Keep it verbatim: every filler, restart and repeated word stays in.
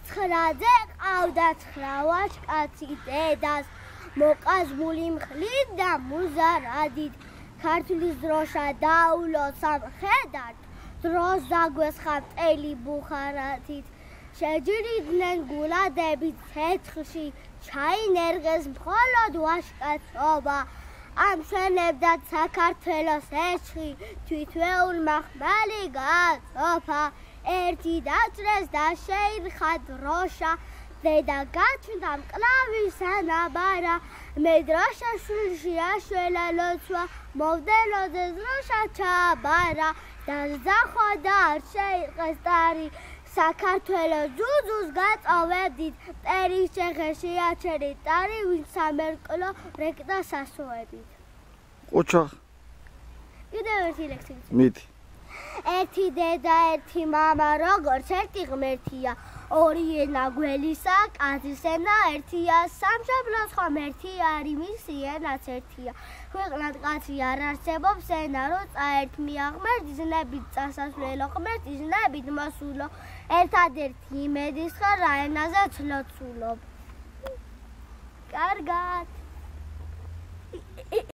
ცხრაძე ყავდა ცხრა ვაჟკაცი დედას მოკაზმული მხლით და მუზარადით ქართლის დროშა დაულო სამხედართ დროს დაგვესხა მტელი ბუხარათით შეჯიდნენ გულადები ცეცხლში ჩაინერგეს მხოლოდ ვაჟკაცობა ამშვენებდა საქართველოს ეშხი თვითვეულმა ხმალი გაწოფა ერთი დაჭრეს და შეირხა დროშა დედა გაჩნდა მკლავის ანაბარა მე დროშა შვილში აშველა ლოცვა მოვდელოზე დროშა ჩაბარა და ზახვა და არ შეირყეს ტარი საქართველოს ძუძუს გაწოვებდით მტერის ჩეხერში აჩერით ტარი ვინც სამერკლო რეკდა სასოებით ყუჩა კიდევ ერთი ლექსი მიდი ერთი დედა ერთი მამა როგორც ერთი ღმერთია ორი ენა გველისა კაცის ენა ერთია სამშობლოს ხომ ერთი არის მისი ენაც ერთია ქვეყნად კაცი არ არსებობს ენა რო წაერთმია ღმერთის ნებით წასასვლელო ღმერთის ნებით მოსულო ერთადერთი იმედის ხარ რა ენაზე ცლოცულობ კარგად